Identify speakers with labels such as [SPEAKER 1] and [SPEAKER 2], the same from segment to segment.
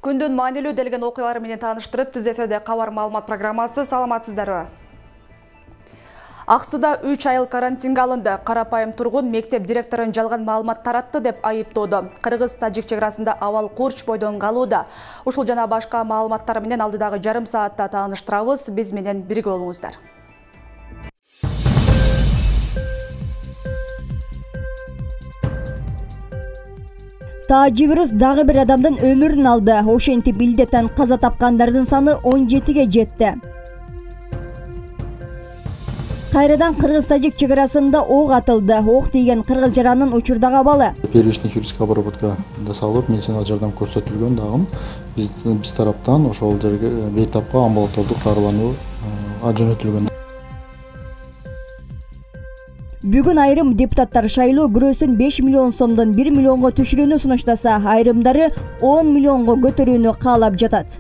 [SPEAKER 1] Күндүн маанилүү делген окуялары менен тааныштырып, Түз эфирде кабар маалымат программасы. Саламатсыздарбы? Аксыда 3 айыл карантинге алынды. Карапайым тургун мектеп директорун жалган маалымат таратты деп айыптоодо. Кыргыз-тажик чек арасында абал курч бойдон калууда. Ушул жана башка маалыматтар менен алдыдагы жарым саатта тааныштырабыз. Биз менен бирге болуңуздар.
[SPEAKER 2] Таажи вирус дагы бир адамдын өмүрүн алды. Ошентип илдеттен каза тапкандардын саны 17ге жетти. Кайрадан Кыргыз-тажик чек арасында ок атылды. Ок тийген кыргыз жаранын учурдагы абалы.
[SPEAKER 3] Первичный хирургическая обработка жасалып, медициналык жардам көрсөтүлгөн дагы биз тараптан ошол жерге бейтапка амбулатордук дарылануу жөнөтүлгөн.
[SPEAKER 2] Бүгүн айрым депутаттар шайлоо күрөөсүн 5 миллион сомдон 1 миллионго түшүрүүнү сунуштаса, айрымдары 10 миллионго көтөрүүнү каалап жатат.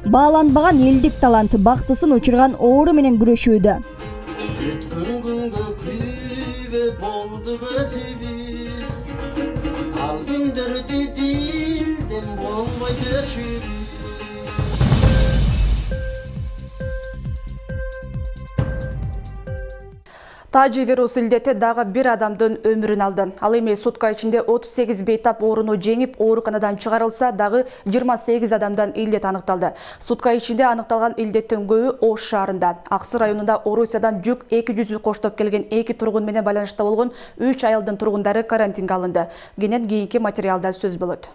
[SPEAKER 2] Бааланбаган элдик талант бактысын учурган оору менен күрөшүүдө.
[SPEAKER 4] Өткөн күнгө күйбө болду көзүбүз. Ал күндөрдү дилден болбой көчүп.
[SPEAKER 1] Таажи вирус илдети дагы бир адамдын өмүрүн алды. Ал эми сутка ичинде 38 бейтап ооруну жеңип, ооруканадан чыгарылса, дагы 28 адамдан илдет аныкталды. Сутка ичинде аныкталган илдеттин көбү Ош шаарында. Аксы районунда Орусиядан жүк 200 коштоп келген 2 тургун менен байланышта болгон 3 айылдын тургундары карантинге алынды. Кенен кийинки материалда сөз болот.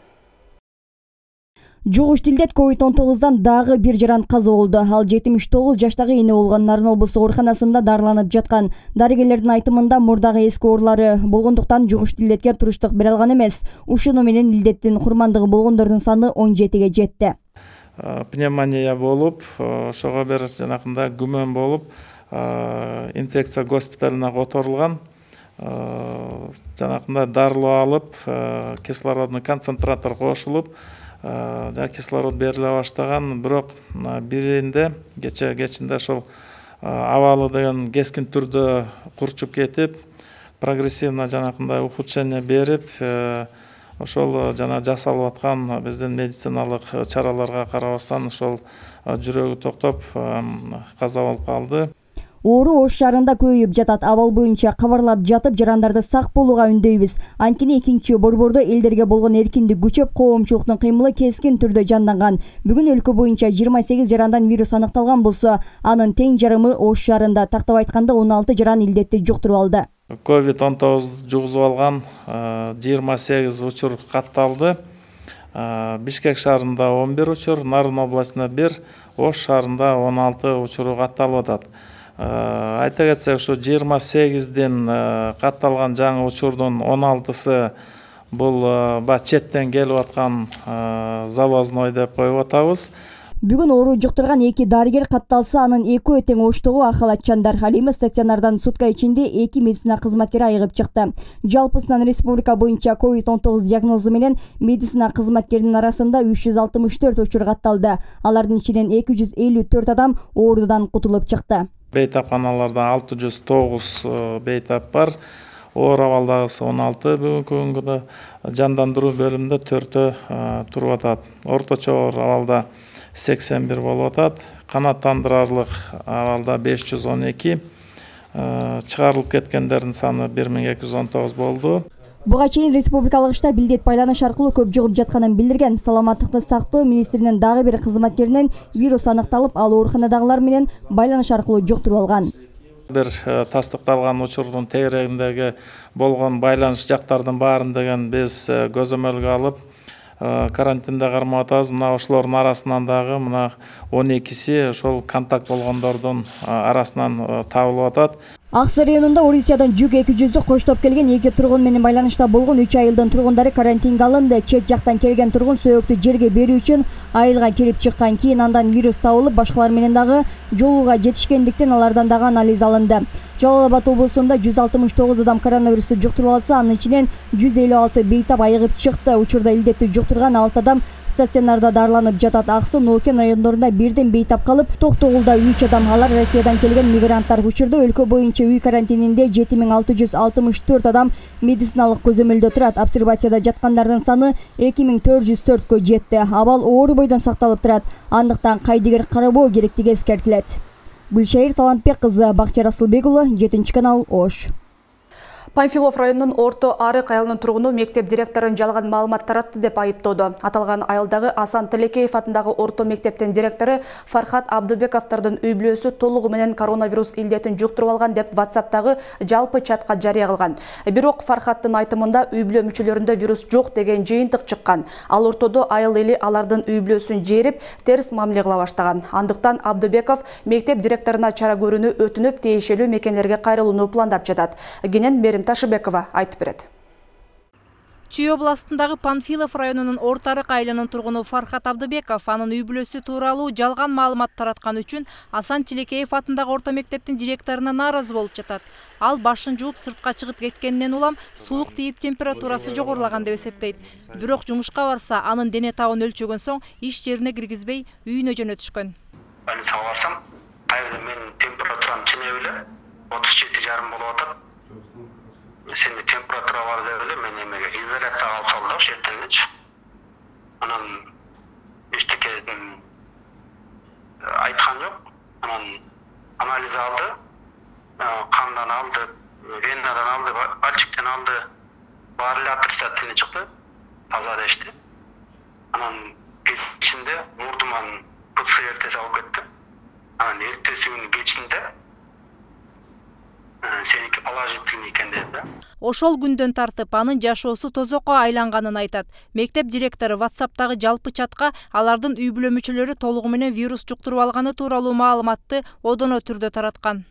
[SPEAKER 2] Жугуш илдет COVID-19 дагы бир жаран каза болду. Ал 79 жаштагы эне болгон Нарын облустук ооруканасында дарыланып жаткан. Дарыгерлердин айтымында мурдагы эски оорулары болгондуктан жугуш илдетке туруштук бере алган эмес. Ушуну менен илдеттин курмандыгы болгондордун саны 17ге жетти.
[SPEAKER 5] Пневмония болуп, ошого бир жанакында күмөн болуп, инфекция госпиталына которулган. Жанакында дарылоо алып, кислородный концентратор кошулуп, кислород бериле баштаган, бирок биринде кечинде ошол абалы деген кескин түрдө курчуп кетип, прогрессивно жанакындай ухудшение берип, ошол жана жасалып аткан биздин медициналык чараларга карабастан ошол жүрөгү токтоп каза болуп калды.
[SPEAKER 2] Оору Ош шаарында көбөйүп жатат. Абал боюнча кабарлап жатып, жарандарды сак болууга үндөйбүз. Анткени экинчи борбордо элдерге болгон эркиндик күчөп, коомчулуктун кыймылы кескин түрдө жанданган. Бүгүн өлкө боюнча 28 жарандан вирус аныкталган болсо, анын тең жарымы Ош шаарында. Тактап айтканда 16 жаран илдетти жуктуруп алды.
[SPEAKER 5] COVID-19 жугузуп алган 28 учур катталды. Бишкек шаарында 11 учур, Нарын областында 1, Ош шаарында 16 учуру катталып атат. Айта кетсек, ушу 28ден катталган жаңы учурдун 16сы бул четтен келип аткан завозной деп коюп атабыз.
[SPEAKER 2] Бүгүн оору жуктурган 2 дарыгер катталса, анын экөө тең Оштогу ахалатчандар. Ал эми стационардан сутка ичинде 2 медицина кызматкери айыгып чыкты. Жалпысынан республика боюнча COVID-19 диагнозу менен медицина кызматкеринин арасында 364 учур катталды. Алардын ичинен 254 адам оорудан кутулуп чыкты.
[SPEAKER 5] Бейтапканаларда 609 бейтап бар. Оор абалдагысы 16, бүгүнкү күнгүдө жандандыруу бөлүмүндө 4 туруп атат. Орточо оор абалда 81 болуп атат. Канааттандырарлык абалда 512, чыгарылып кеткендердин саны 1219 болду.
[SPEAKER 2] Буга чейин республикалык штаб илдет байланыш аркылуу көп жугуп жатканын билдирген. Саламаттыкты сактоо министринин дагы бир кызматкеринен вирус аныкталып, ал ооруканадагылар менен байланыш аркылуу жуктуруп алган.
[SPEAKER 5] Бир тастыкталган учурдун тегерегиндеги болгон байланыш жактардын баарын деген биз көзөмөлгө алып, карантинде кармап атабыз. Мына ошолордун арасынан дагы мына 12си ошол контакт болгондордун арасынан табылып атат.
[SPEAKER 2] Аксы районунда Орусиядан жүк 200 коштоп келген 2 тургун менен байланышта болгон 3 айылдын тургундары карантинге алынды. Чет жактан келген тургун сөөктү жерге берүү үчүн айылга кирип чыккан, кийин андан вирус табылып, башкалар менен дагы жолууга жетишкендиктен алардан дагы анализ алынды. Жалал Абад облусунда 169 адам коронавирусту жуктуруп алса, анын ичинен 156 бейтап айыгып чыкты. Учурда илдетти жуктурган 6 адам стационарда дарыланып жатат. Аксы, Нокен райондорунда бирден бейтап калып, Токтогулда 3 адам, алар Россиядан келген мигранттар. Учурда өлкө боюнча үй карантининде 7664 адам медициналык көзөмөлдө турат. Обсервацияда жаткандардын саны 2404кө жетти. Абал оор бойдон сакталып турат. Андыктан кайдыгер карабоо керектиги эскертилет. Гүлшайыр Талантбек кызы, Бакча Расылбек уулу, 7-канал, Ош.
[SPEAKER 1] Панфилов районунун Орто Арык айылынын тургуну мектеп директорун жалган маалымат таратты деп айыптоодо. Аталган айылдагы Асан Тилекеев атындагы орто мектептин директору Фархат Абдыбековдордун үй бүлөсү толугу менен коронавирус илдетин жуктуруп алган деп WhatsApp'тагы жалпы чатка жарыя кылган. Бирок Фархаттын айтымында үй бүлө мүчөлөрүндө вирус жок деген жыйынтык чыккан. Ал ортодо айыл эли алардын үй бүлөсүн жээрип, терс мамиле кыла баштаган. Андыктан Абдыбеков мектеп директоруна чара көрүүнү өтүнүп, тиешелүү мекемелерге кайрылууну пландап жатат. Кенен Мерим Ташыбекова айтып берет.
[SPEAKER 6] Чүй областындагы Панфилов районунун Орто Арык айылынын тургуну Фархат Абдыбеков анын үй бүлөсү тууралуу жалган маалымат тараткан үчүн Асан Тилекеев атындагы орто мектептин директоруна нааразы болуп жатат. Ал башын жууп сыртка чыгып кеткенинен улам суук тийип температурасы жогорулаган деп эсептейт. Бирок жумушка барса, анын дене табын өлчөгөн соң иш жерине киргизбей үйүнө жөнөтүшкөн.
[SPEAKER 7] Больницага барсам, кайда менин температурам чынеп эле 37,5 болуп атат. Сенде температура бар деп эле мен эмеге изоляцияга алып салды ошол жерденчи. Анан эчтеке айткан жок. Анан анализ алды, кандан алды, венадан алды, пальчиктен алды. Баары эле отрицательный чыкты, таза дешти. Анан кечинде мурдуман ПЦР тест алып кетти. Анан эртеси күнү кечинде сеники положительный экен dedi.
[SPEAKER 6] Ошол күндөн тартып анын жашоосу тозокко айланганын айтат. Мектеп директору WhatsApp'тагы жалпы чатка алардын үй бүлө мүчөлөрү толугу менен вирус жуктуруп алганы тууралуу маалыматты одоно түрдө тараткан.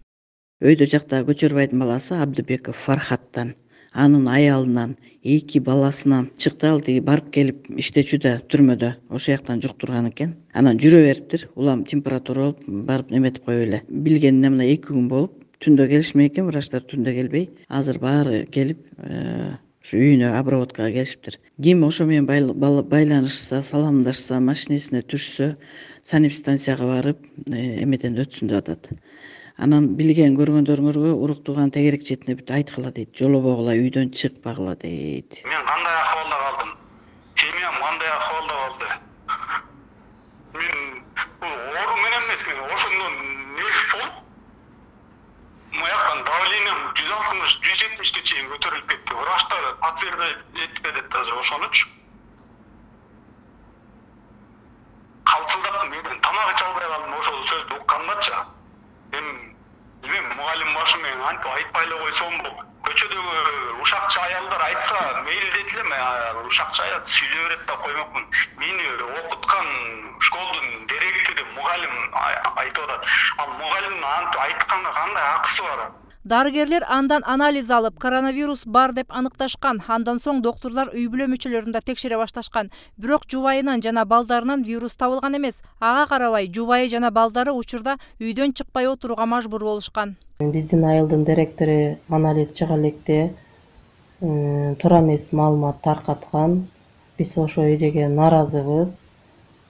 [SPEAKER 8] Өйдө жакта Көчөрбайдын баласы Абдыбеков Фархаттан, анын аялынан, 2 баласынан чыкты. Ал тиги барып келип иштечүдө түрмөдө ошол жактан жуктурган экен. Анан жүрө бериптир. Улам температура болуп барып неметип коюп эле. Билгенине мына 2 күн болуп түндө келишмей экен, врачтар түндө келбей. Азыр баары келип, ушу үйүнө обработкага келишиптир. Ким ошо менен байланышса, саламдашса, машинесине түшсө, санэпидстанцияга барып, эметен өтсүн деп атат. Анан билген көргөндөрүңөргө уруктууган тегерек четине бүт айткыла дейт. Жолобогула, үйдөн чыкпагыла дейт.
[SPEAKER 7] Мен кандай акыбалда калдым? Семьям кандай акыбалда калды? Мен оору менен эмес, мен ошондон нерв болуп маяктан давлением 160-170ге чейин көтөрүлүп кетти. Врачтар подтвердить этпеди даже ошонучу. Калтылдап мен тамак иче албай калдым ошол сөздү уккандачы. Мен мугалим башы менен антип айтпай эле койсомбу? Көчөдөгү ушакчы аялдар айтса мейилдейт элем, ушакчы аял сүйлөй берет деп коймокмун. Мени окуткан школдун директору мугалим айтып атат. Ал мугалимдин антип айтканга кандай акысы бар?
[SPEAKER 6] Дарыгерлер андан анализ алып, коронавирус бар деп аныкташкан. Андан соң доктурлар үй бүлө мүчөлөрүн да текшере башташкан. Бирок жубайынан жана балдарынан вирус табылган эмес. Ага карабай, жубайы жана балдары учурда үйдөн чыкпай отурууга мажбур болушкан.
[SPEAKER 9] Биздин айылдын директору анализ чыга электе туура эмес маалымат таркаткан. Биз ошол эреге нааразыбыз.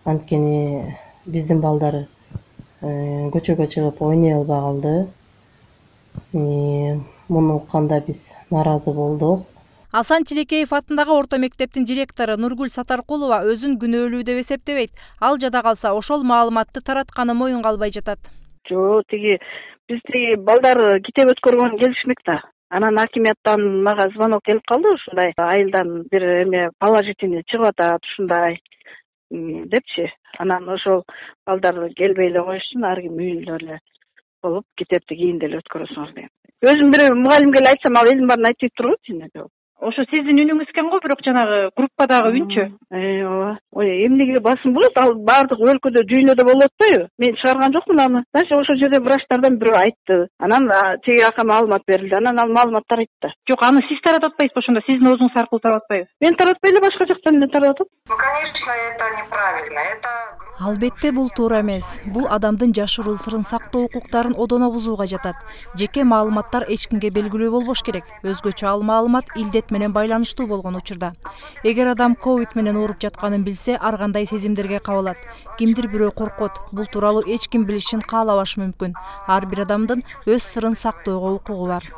[SPEAKER 9] Анткени биздин балдар көчөгө чыгып ойной албай калды. Муну укканда биз нааразы болдук.
[SPEAKER 6] Асан Тилекеев атындагы орто мектептин директору Нургүл Сатаркулова өзүн күнөөлүү деп эсептебейт. Ал жада калса ошол маалыматты таратканы моюнга албай жатат.
[SPEAKER 10] Жок, бизди балдар китеп өткөргөн келишмек да. Анан акимияттан мага звонок келип калды, ушундай айылдан бир эме положительный чыгып атат, ушундай депчи. Анан ошол балдар келбей эле коюшун, ар ким үйүндө эле болуп китепти кийинде эле өткөрөсүңөр дейм. Өзүм бир мугалимге эле айтсам, ал элдин баарын айтып туруп атат.
[SPEAKER 11] Ошо сиздин үнүңүз экен го, бирок жанагы группадагы үнчү.
[SPEAKER 10] Ооба. Эмнеге басым болот? Ал баардык өлкөдө дүйнөдө болуп атпайбы? Мен чыгарган жокмун аны. Дальше ошол жерде врачтардан бирөө айтты. Анан теги ака маалымат берилди. Анан ал маалыматтар айтты.
[SPEAKER 11] Жок, аны сиз таратып атпайсызбы ошондо? Сиздин оозуңуз аркылуу таратып атпайбы?
[SPEAKER 10] Мен таратпай эле башка жактан эле таратып атам.
[SPEAKER 12] Ну, конечно, это неправильно. Это
[SPEAKER 6] Албетте бул туура эмес. Бул адамдын жашыруу сырын сактоо укуктарын одоно бузууга жатат. Жеке маалыматтар эч кимге белгилүү болбош керек. Өзгөчө ал маалымат илдет менен байланыштуу болгон учурда. Эгер адам ковид менен ооруп жатканын билсе, ар кандай сезимдерге кабылат. Кимдир бирөө коркот. Бул тууралуу эч ким билишин каалабашы мүмкүн. Ар бир адамдын өз сырын сактоого укугу бар.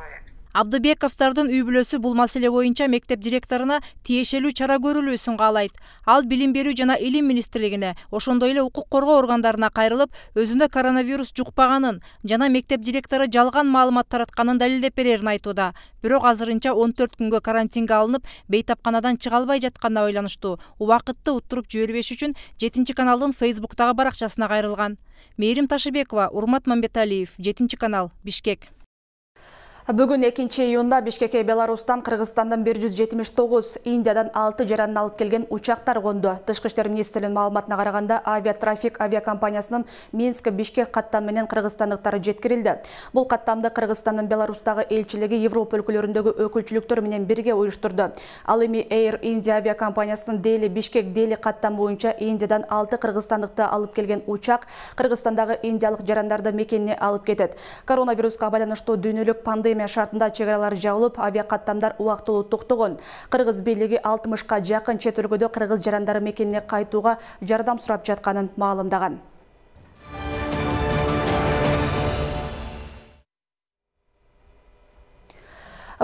[SPEAKER 6] Абдыбековдордун үй бүлөсү бул маселе боюнча мектеп директоруна тиешелүү чара көрүлүүсүн каалайт. Ал билим берүү жана илим министрлигине, ошондой эле укук коргоо органдарына кайрылып, өзүндө коронавирус жукпаганын жана мектеп директору жалган маалымат таратканын далилдеп берерин айтууда. Бирок азырынча 14 күнгө карантинге алынып, бейтапканадан чыга албай жатканына байланыштуу убакытты уттуруп жибербеш үчүн 7 каналдын Facebooктагы баракчасына кайрылган. Мээрим Ташыбекова, Урмат Мамбеталиев, 7 канал, Бишкек.
[SPEAKER 1] Бүгүн 2-июнда Бишкекке Беларустан, Кыргызстандан 179, Индиядан 6 жаранын алып келген учактар конду. Тышкы иштер министрлигинин маалыматына караганда, авиатрафик авиакомпаниясынын Минск-Бишкек каттам менен кыргызстандыктары жеткирилди. Бул каттамды Кыргызстандын Беларустагы элчилиги Европа өлкөлөрүндөгү өкүлчүлүктөр менен бирге уюштурду. Ал эми Air India авиакомпаниясынын Дели Бишкек Дели каттам боюнча Индиядан 6 кыргызстандыкты алып келген учак Кыргызстандагы индиялык жарандарды мекенине алып кетет. Коронавируска байланыштуу дүйнөлүк пандемия шартында чегаралар жабылып, авиакаттамдар убактылуу токтогон. Кыргыз бийлиги 60ка жакын чет өлкөдө кыргыз жарандары мекенине кайтууга жардам сурап жатканын маалымдаган.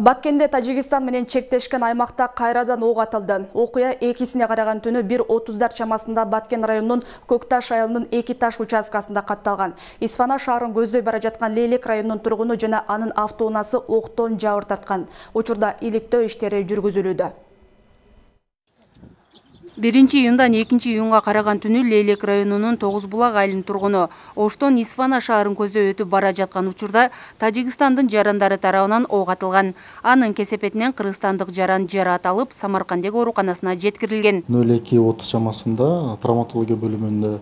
[SPEAKER 1] Баткенде Тажикстан менен чектешкен аймакта кайрадан ок атылды. Окуя 2-сине караган түнү 1:30 чамасында Баткен районунун Көкташ айылынын 2 таш участкасында катталган. Исфана шаарын көздөй бара жаткан Лейлек районунун тургуну жана анын автоунаасы октон жабыр тарткан. Учурда иликтөө иштери жүргүзүлүүдө.
[SPEAKER 13] 1-июндан 2-июнга караган түнү Лейлек районунун Тогуз булак айылынын тургуну Оштон Исфана шаарын көздөй өтүп бара жаткан учурда Тажикстандын жарандары тарабынан ок атылган. Анын кесепетинен кыргызстандык жаран жараат алып, Самарканддагы ооруканасына жеткирилген.
[SPEAKER 3] 02:30 чамасында травматология бөлүмүндө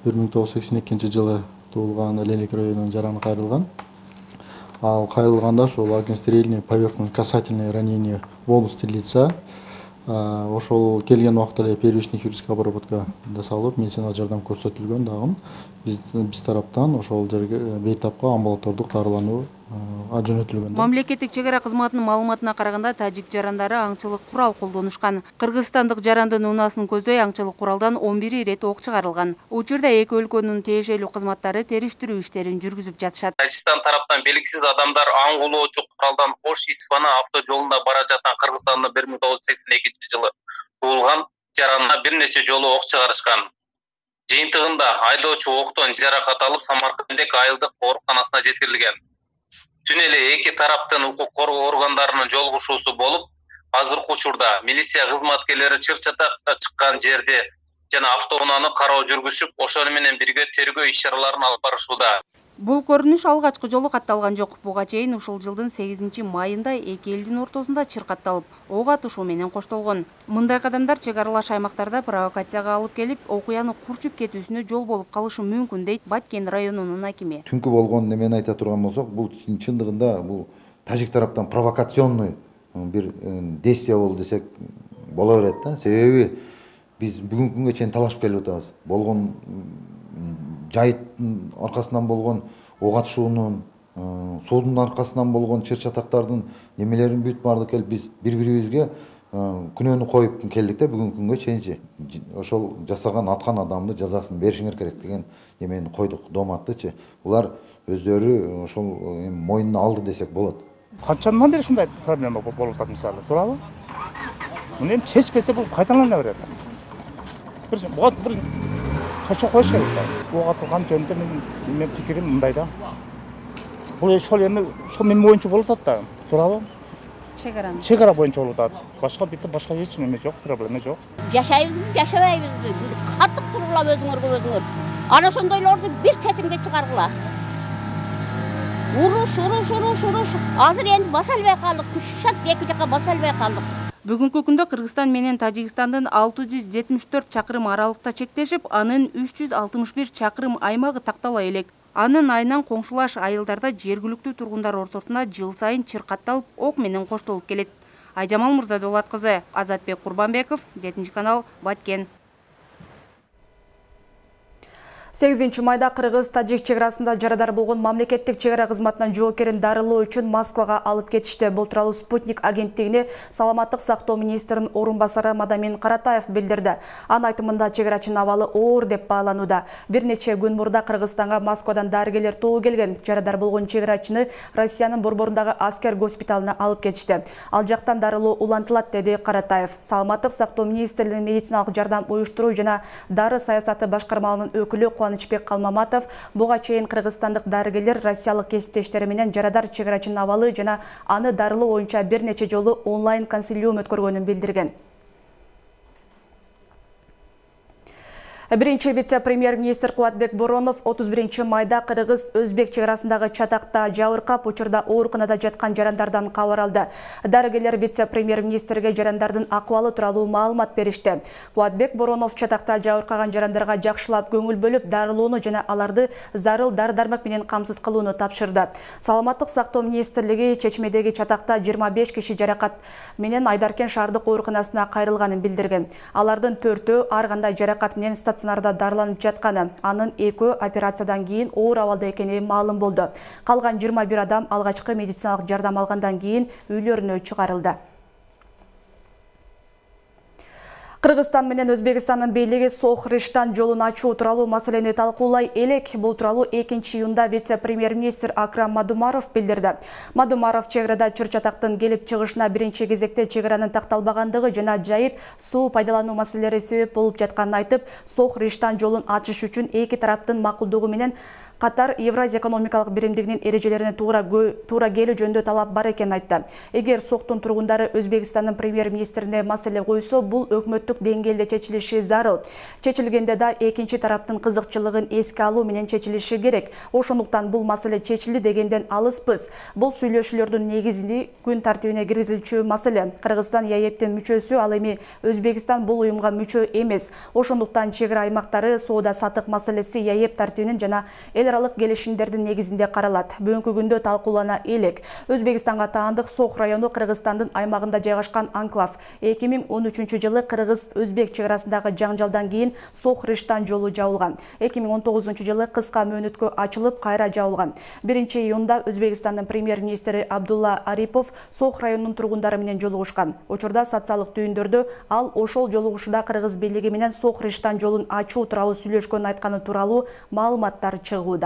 [SPEAKER 3] 1982-жылы туулган Лейлек районунун жараны кайрылган. Ал кайрылганда ошол огнестрельное поверхностно-касательное ранение в области лица. Ошол келген убакта эле первичный хирургическая обработка жасалып, медициналык жардам көрсөтүлгөн дагы. Биз тараптан ошол жерге бейтапка амбулатордук дарылануу жөнөтүлгөн.
[SPEAKER 13] Мамлекеттик чегара кызматынын маалыматына караганда, тажик жарандары аңчылык курал колдонушкан. Кыргызстандык жарандын унаасын көздөй аңчылык куралдан 11 ирет ок чыгарылган. Учурда эки өлкөнүн тиешелүү кызматтары териштирүү иштерин жүргүзүп жатышат.
[SPEAKER 14] Тажикстан тараптан белгисиз адамдар аң кулоочу куралдан Ош-Исфана автожолунда бара жаткан Кыргызстандын 1982-жылы туулган жаранына бир нече жолу ок чыгарышкан. Жыйынтыгында айдоочу октон жаракат алып, Самарканддагы айылдык ооруканасына жеткирилген. Түн эле эки тараптын укук коргоо органдарынын жолугушуусу болуп, азыркы учурда милиция кызматкерлери чыр-чатакка чыккан жерде жана автоунааны кароо жүргүзүп, ошону менен бирге тергөө иш-чараларын алып барышууда.
[SPEAKER 13] Бул көрүнүш алгачкы жолу катталган жок. Буга чейин ушул жылдын 8 майында эки элдин ортосунда чыр катталып, ок атышуу менен коштолгон. Мындай кадамдар чегаралаш аймактарда провокацияга алып келип, окуяны курчуп кетүүсүнө жол болуп калышы мүмкүн, дейт Баткен районунун акими.
[SPEAKER 15] Түнкү болгон немени айта турган болсок, бул чындыгында бул тажик тараптан провокационный бир действие болду десек боло берет да. Себеби биз бүгүнкү күнгө чейин талашып келип атабыз. Болгон жайыттын аркасынан болгон ок атышуунун, суудун аркасынан болгон чыр-чатактардын немелерин бүт баардык келип биз бири-бирибизге күнөөнү коюп келдик да бүгүнкү күнгө чейинчи. Ошол жасаган, аткан адамды жазасын беришиңер керек деген немени койдук, дооматтычы. Булар өздөрү ошол мойнуна алды десек болот.
[SPEAKER 16] Канчандан бери ушундай проблема болуп атат мисалы, туурабы? Муну эми чечпесе бул кайталана берет. Буга бир тошо коюш керек да. Ок атылган жөнүндө менин пикирим мындай да. Бул ошол эми ошол мен боюнча болуп атат да, туурабы? Чегара боюнча болуп атат. Башка эч неме жок, проблема жок.
[SPEAKER 17] Жашайбызбы, жашабайбызбы? Катык тургула өзүңөр. Ana ошондойлорду бир четимге чыгаргыла. Уруш. Азыр энди баса албай калдык. Күшат эки жака баса албай калдык.
[SPEAKER 13] Бүгүнкү күндө Кыргызстан менен Тажикстандын 674 чакырым аралыкта чектешип, анын 361 чакырым аймагы тактала элек. Анын айынан коңшулаш айылдарда жергиликтүү тургундар ортосунда жыл сайын чыр катталып, ок менен коштолуп келет. Айжамал Мырзадолат кызы, Азатбек Курбанбеков, 7 канал, Баткен.
[SPEAKER 1] 8 майда Кыргыз-Тажик чегарасында жарадар болгон мамлекеттик чегара кызматынын жоокерин дарылоо үчүн Москвага алып кетишти. Бул тууралуу Спутник агенттигине саламаттык сактоо министринин орун басары Мадамин Каратаев билдирди. Анын айтымында чегарачынын абалы оор деп бааланууда. Бир нече күн мурда Кыргызстанга Москвадан дарыгерлер тобу келген. Жарадар болгон чегарачыны Россиянын борборундагы аскер госпиталына алып кетишти. Ал жактан дарылоо улантылат, деди Каратаев. Саламаттык сактоо министрлигинин медициналык жардам уюштуруу жана дары саясаты башкармалыгынын өкүлү Кубанычбек Калмаматов буга чейин кыргызстандык дарыгерлер россиялык кесиптештери менен жарадар чегарачынын абалы жана аны дарылоо боюнча бир нече жолу онлайн консилиум өткөргөнүн билдирген. Биринчи вице-премьер-министр Кубатбек Боронов 31 майда Кыргыз-Өзбек чегарасындагы чатакта жабыркап, учурда ооруканада жаткан жарандардан кабар алды. Дарыгерлер вице-премьер-министрге жарандардын акыбалы тууралуу маалымат беришти. Кубатбек Боронов чатакта жабыркаган жарандарга жакшылап көңүл бөлүп, дарылоону жана аларды зарыл дары-дармак менен камсыз кылууну тапшырды. Саламаттык сактоо министрлиги Чечмедеги чатакта 25 киши жаракат менен Айдаркен шаардык ооруканасына кайрылганын билдирген. Алардын 4-өө ар кандай жаракат менен стационарда дарыланып жатканы, анын 2 операциядан кийин оор абалда экени маалым болду. Калган 21 адам алгачкы медициналык жардам алгандан кийин үйлөрүнө чыгарылды. Кыргызстан менен Өзбекстандын бийлиги Сох-Риштан жолун ачуу тууралуу маселени талкуулай элек. Бул тууралуу 2-июнда вице-премьер-министр Акрам Мадумаров билдирди. Мадумаров чегарада чыр-чатактын келип чыгышына биринчи кезекте чегаранын такталбагандыгы жана жайыт суу пайдалануу маселелери себеп болуп жатканын айтып, Сох-Риштан жолун ачыш үчүн эки тараптын макулдугу менен катар Евразия экономикалык биримдигинин эрежелерине туура келүү жөнүндө талап бар экенин айтты. Эгер Соктун тургундары Өзбекстандын премьер-министрине маселе койсо, бул өкмөттүк деңгээлде чечилиши зарыл. Чечилгенде да экинчи тараптын кызыкчылыгын эске алуу менен чечилиши керек. Ошондуктан бул маселе чечилди дегенден алыспыз. Бул сүйлөшүүлөрдүн негизинде күн тартибине киргизилчү маселе. Кыргызстан ЯЭПтин мүчөсү, ал эми Өзбекстан бул уюмга мүчө эмес. Ошондуктан чегара аймактары соода сатык маселеси ЯЭП тартибинин жана аралык келишимдердин негизинде каралат. Бүгүнкү күндө талкуулана элек. Өзбекстанга таандык Сох району Кыргызстандын аймагында жайгашкан анклав. 2013 жылы Кыргыз-Өзбек чегарасындагы жаңжалдан кийин Сох-Риштан жолу жабылган. 2019 жылы кыска мөөнөткө ачылып, кайра жабылган. 1-июнда Өзбекстандын премьер-министри Абдулла Арипов Сох районунун тургундары менен жолугушкан. Учурда социалдык түйүндөрдө ал ошол жолугушууда Кыргыз бийлиги менен Сох-Риштан жолун ачуу тууралуу сүйлөшкөнүн айтканы тууралуу маалыматтар чыгууда.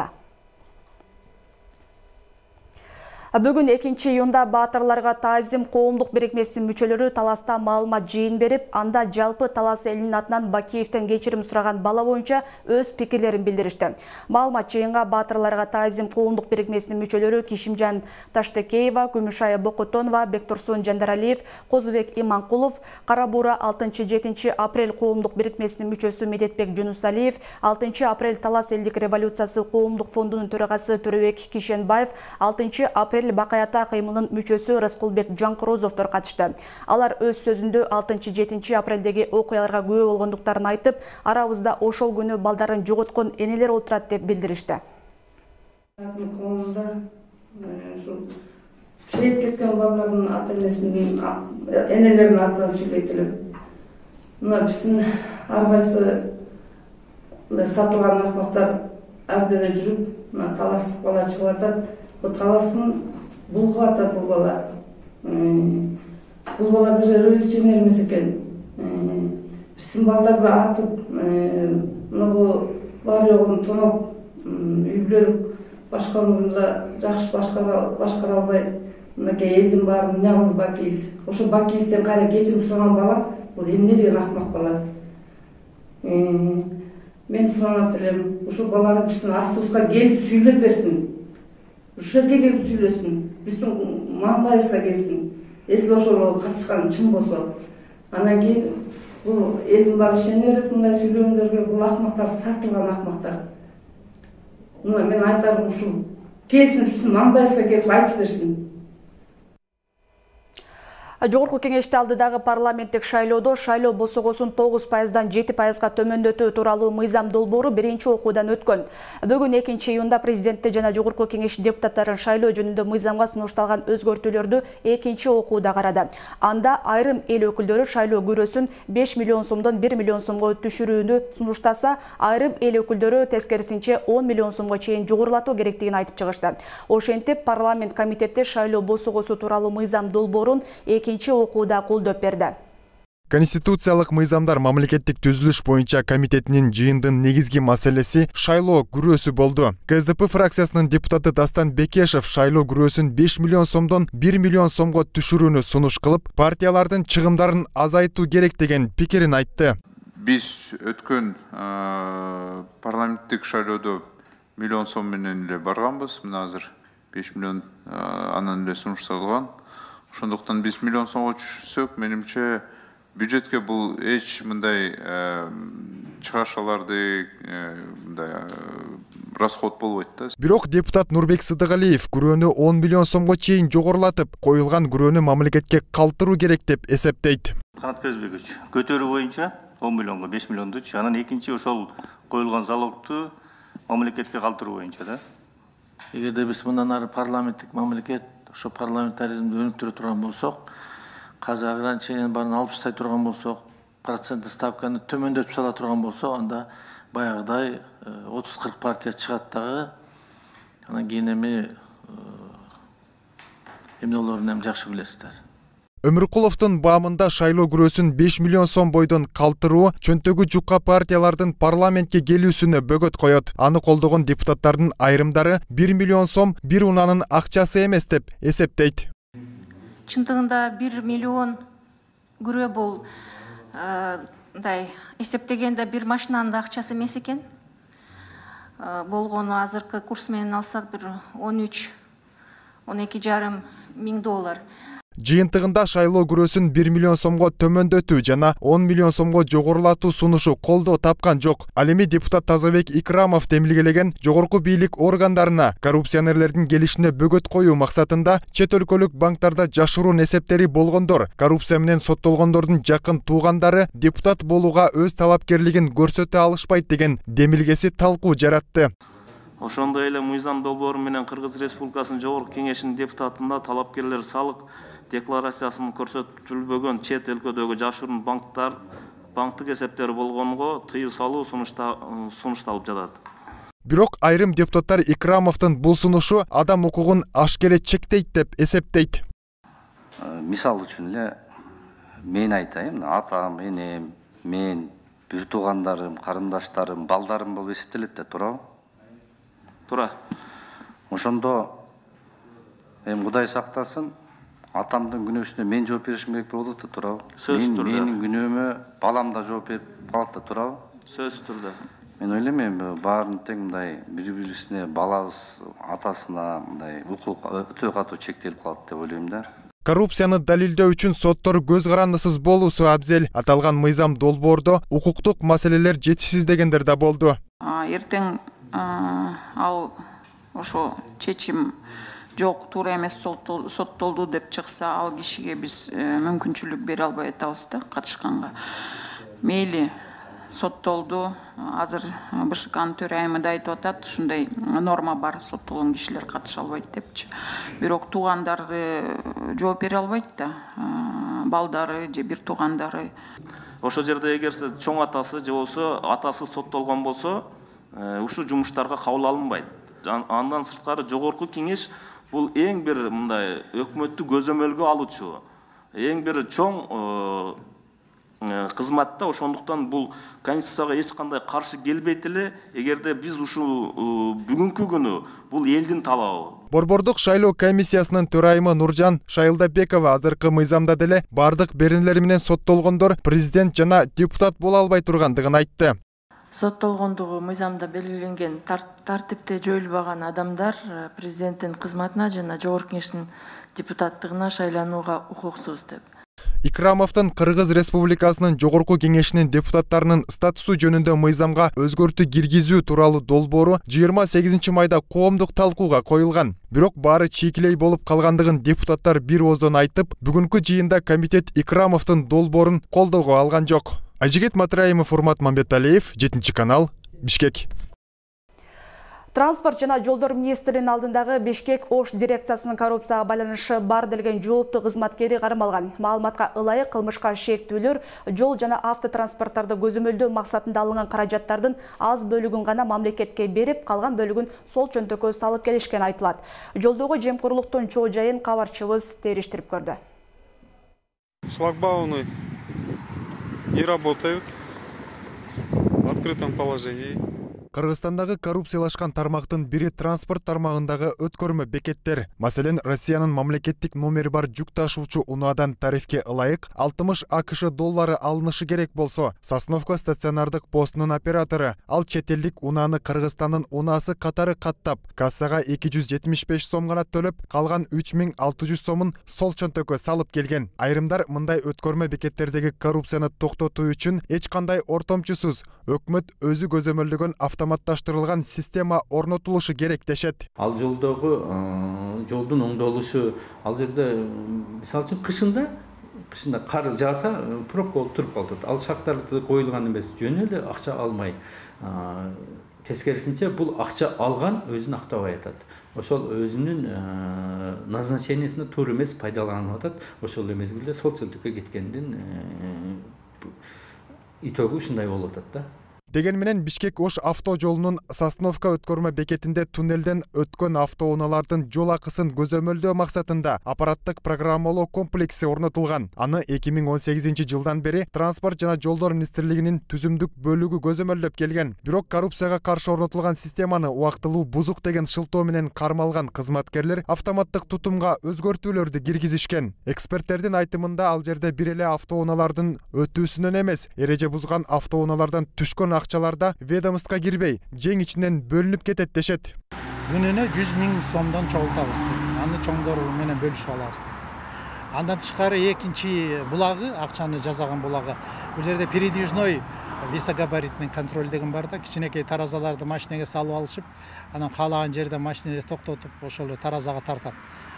[SPEAKER 1] Бүгүн 2-июнда Баатырларга таазим коомдук бирикмесинин мүчөлөрү таласта маалымат жыйын берип, анда жалпы Талас элинин атынан Бакиевден кечирим сураган бала боюнча өз пикирлерин билдиришти. Маалымат жыйынга Баатырларга таазим коомдук бирикмесинин мүчөлөрү Кишимжан Таштекеева, Күмүшай Бокотонова, Бектурсун Жандаралиев, Козубек Иманкулов, Кара Буура 6-7 апрель коомдук бирикмесинин мүчөсү Медетбек Жунусалиев, 6 апрель Талас элдик революциясы коомдук фондунун төрагасы Төрөбек Кишенбаев, 6 апрель Бакаята кыймылынын мүчөсү Раскулбек Жанкорозовдор катышты. Алар өз сөзүндө 6-7 апрелдеги окуяларга күбө болгондуктарын айтып, арабызда ошол күнү балдарын жоготкон энелер отурат деп билдиришти.
[SPEAKER 18] Шейит кеткен балдардын ата-энесинин энелеринин атынан сүйлөйт элем. Мына биздин ар кайсы сатылган акмактар абдене жүрүп, мына таластык бала чыгып атат. Таластын булгуп атат бул бала. Бул бала даже революционер эмес экен. Биздин балдарды атып, мына бар жогун тоноп, үй-бүлөлүк башкарууну жакшы башкара албай, мынакей элдин баарын эмне кылды Бакиев. Ошо Бакиевден кайра кечирим сураган бала, бул эмне деген акмак бала. Мен суранат элем, ошо баланы биздин астыбызга келип сүйлөп берсин. Ушул жерге келип сүйлөсүн, биздин маңдайыбызга келсин. Эсли ошол катышкан чын болсо, анан кийин бул элдин баары ишене берет мындай сүйлөгөндөргө. Бул акмактар сатылган акмактар. Мына мен айтарым ушул. Келсин биздин маңдайыбызга келип айтып берсин.
[SPEAKER 1] Жогорку кеңеште алдыдагы парламенттик шайлоодо шайлоо босогосун 9%дан 7%га төмөндөтүү тууралуу мыйзам долбоору биринчи окуудан өткөн. Бүгүн 2-июнда президентти жана жогорку кеңеш депутаттарын шайлоо жөнүндө мыйзамга сунушталган өзгөртүүлөрдү экинчи окууда карады. Анда айрым эл өкүлдөрү шайлоо күрөсүн 5 миллион сомдон 1 миллион сомго түшүрүүнү сунуштаса, айрым эл өкүлдөрү тескерисинче 10 миллион сомго чейин жогорулатуу керектигин айтып чыгышты. Ошентип, парламент комитети шайлоо босогосу тууралуу мыйзам долбоорун экинчи окууда колдоп берди.
[SPEAKER 19] Конституциялык мыйзамдар мамлекеттик түзүлүш боюнча комитетинин жыйындын негизги маселеси шайлоо күрөөсү болду. КСДП фракциясынын депутаты Дастан Бекешев шайлоо күрөөсүн 5 миллион сомдон 1 миллион сомго түшүрүүнү сунуш кылып, партиялардын чыгымдарын азайтуу керек деген пикирин айтты.
[SPEAKER 20] Биз өткөн парламенттик шайлоодо миллион сом менен эле барганбыз. Мына азыр 5 миллион анан эле сунушталган. Ошондуктан биз миллион сомго түшсөк, менимче бюджетке бул эч мындай чыгашаларды мындай расход болбойт да.
[SPEAKER 19] Бирок депутат Нурбек Сыдыгалиев күрөөнү 10 миллион сомго чейин жогорулатып, коюлган күрөөнү мамлекетке калтыруу керек деп эсептейт.
[SPEAKER 21] Канат Көзбекович, көтөрүү боюнча 10 миллионго 5 миллионду, анан экинчи ошол коюлган залогту мамлекетке калтыруу боюнча да.
[SPEAKER 22] Эгерде биз мындан ары парламенттик мамлекет ошо парламентаризмди өнүктүрө турган болсок, казыр ограничениянын баарын алып таштай турган болсок, проценттик ставканы төмөндөтүп сала турган болсок, анда баягыдай 30-40 партия чыгат дагы. Анан кийин эмне болоорун жакшы билесиздер.
[SPEAKER 19] Өмүркуловдун баамында шайлоо күрөөсүн 5 миллион сом бойдон калтыруу чөнтөгү жукка партиялардын парламентке келүүсүнө бөгөт коет. Аны колдогон депутаттардын айрымдары 1 миллион сом бир унаанын акчасы эмес деп эсептейт.
[SPEAKER 23] Чындыгында 1 миллион күрөө бул мындай эсептегенде бир машинанын да акчасы эмес экен. Болгону азыркы курс менен алсак бир 13-12,5 миң доллар.
[SPEAKER 19] Жыйынтыгында шайлоо күрөөсүн 1 миллион сомго төмөндөтүү жана 10 миллион сомго жогорулатуу сунушу колдоо тапкан жок. Ал эми депутат Тазабек Икрамов демилгелеген жогорку бийлик органдарына коррупционерлердин келишине бөгөт коюу максатында чет өлкөлүк банктарда жашыруун эсептери болгондор, коррупция менен соттолгондордун жакын туугандары депутат болууга өз талапкерлигин көрсөтө алышпайт деген демилгеси талкуу жаратты.
[SPEAKER 21] Ошондой эле мыйзам долбоору менен Кыргыз Республикасынын жогорку кеңешинин депутатында талапкерлер салык декларациясын көрсөтүлбөгөн чет өлкөдөгү жашыруун банктык эсептери болгонго тыюу салуу сунушталып жатат.
[SPEAKER 19] Бирок айрым депутаттар Икрамовдун бул сунушу адам укугун ашкере чектейт деп эсептейт.
[SPEAKER 24] Мисал үчүн эле мен айтайын, атам, энем, мен, бир туугандарым, карындаштарым, балдарым болуп эсептелет да, туурабы?
[SPEAKER 21] Туура.
[SPEAKER 24] Ошондо Кудай сактасын, атамдын күнөөсүнө мен жооп беришим керек болот да, туурабы?
[SPEAKER 21] Сөзсүз түрдө.
[SPEAKER 24] Менин күнөөмө балам да жооп берип калат да, туурабы?
[SPEAKER 21] Сөзсүз түрдө.
[SPEAKER 24] Мен ойлойм, баарын тең мындай бири-бирисине, балабыз атасына мындай укук өтө катуу чектелип калат деп ойлойм да.
[SPEAKER 19] Коррупцияны далилдөө үчүн соттор көз карандысыз болуусу абзел. Аталган мыйзам долбоордо укуктук маселелер жетишсиз дегендер да болду.
[SPEAKER 25] Эртең ал ошо чечим жок, туура эмес, соттолду деп чыкса, ал кишиге биз мүмкүнчүлүк бере албай атабыз да катышканга. Мейли соттолду, азыр БШКнын төрайымы да айтып атат, ушундай норма бар, соттолгон кишилер катыша албайт депчи. Бирок туугандары жооп бере албайт да, балдары же бир туугандары.
[SPEAKER 21] Ошол жерде эгерсе чоң атасы же болсо атасы соттолгон болсо, ушул жумуштарга кабыл алынбайт. Андан сырткары жогорку кеңеш бул эң бир мындай өкмөттү көзөмөлгө алуучу, эң бир чоң кызмат да. Ошондуктан бул конституцияга эч кандай каршы келбейт эле. Эгерде биз ушул бүгүнкү күнү бул элдин талабы.
[SPEAKER 19] Борбордук шайлоо комиссиясынын төрайымы Нуржан Шайылдабекова азыркы мыйзамда деле бардык беренелер менен соттолгондор президент жана депутат боло албай тургандыгын айтты.
[SPEAKER 25] Соттолгондугу мыйзамда белгиленген тартипте жоюлбаган адамдар президенттин кызматына жана жогорку кеңештин депутаттыгына шайланууга укуксуз деп.
[SPEAKER 19] Икрамовдун Кыргыз Республикасынын Жогорку Кеңешинин депутаттарынын статусу жөнүндө мыйзамга өзгөртүү киргизүү тууралуу долбоору 28 майда коомдук талкууга коюлган. Бирок баары чийкилей болуп калгандыгын депутаттар бир ооздон айтып, бүгүнкү жыйында комитет Икрамовдун долбоорун колдоого алган жок. Айжигит Матраимов, Урмат Мамбеталиев, 7 канал, Бишкек.
[SPEAKER 1] Транспорт жана жолдор министринин алдындагы Бишкек Ош дирекциясынын коррупцияга байланышы бар делген жооптуу кызматкери кармалган. Маалыматка ылайык кылмышка шектүүлөр жол жана автотранспорттарды көзөмөлдөө максатында алынган каражаттардын аз бөлүгүн гана мамлекетке берип, калган бөлүгүн сол чөнтөккө салып келишкен айтылат. Жолдогу жемкорлуктун чоо жайын кабарчыбыз териштирип көрдү.
[SPEAKER 2] Шлагбауны не работают в открытом положении.
[SPEAKER 19] Кыргызстандагы коррупциялашкан тармактын бири транспорт тармагындагы өткөрмө бекеттер. Маселен, Россиянын мамлекеттик номери бар жүк ташуучу унаадан тарифке ылайык 60 АКШ доллары алынышы керек болсо, Сосновка стационардык постунун оператору ал чет элдик унааны Кыргызстандын унаасы катары каттап, кассага 275 сом гана төлөп, калган 3600 сомун сол чөнтөккө салып келген. Айрымдар мындай өткөрмө бекеттердеги коррупцияны токтотуу үчүн эч кандай ортомчусуз өкмөт өзү көзөмөлдөгөн автоматташтырылган система орнотулушу керек дешет.
[SPEAKER 4] Ал жолдогу жолдун оңдолушу, ал жерде мисалы үчүн кышында кар жааса пробка болуп туруп калат. Ал шарттарды коюлган эмес, жөн эле акча алмай. Тескерисинче бул акча алган өзүн актабай атат. Ошол өзүнүн назначениясына туура эмес пайдаланып атат. Ошол мезгилде сол чөнтөккө кеткендин итогу ушундай болуп атат да.
[SPEAKER 19] Деген менен Бишкек Ош авто жолунун Сосновка өткөрмө бекетинде туннелден өткөн автоунаалардын жол акысын көзөмөлдөө максатында аппараттык программалоо комплекси орнотулган. Аны 2018 жылдан бери Транспорт жана жолдор министрлигинин түзүмдүк бөлүгү көзөмөлдөп келген. Бирок коррупцияга каршы орнотулган системаны убактылуу бузук деген шылтоо менен кармалган кызматкерлер автоматтык тутумга өзгөртүүлөрдү киргизишкен. Эксперттердин айтымында ал жерде бир эле автоунаалардын өтүүсүнөн эмес, эреже бузган автоунаалардан түшкөн акчаларда ведомствга кирбей, жең ичинен бөлүнүп кетет дешет.
[SPEAKER 5] Күнүнө 100 000 сомдон чогултабыз. Аны чоңдору менен бөлүшүп алабыз. Андан тышкары экинчи булагы, акчаны жазаган булагы. Бул жерде передвижной висогабаритный контроль деген бар да, кичинекей таразаларды машинеге салып алышып, анан каалаган жерде машинени токтотуп, ошол таразага тартат.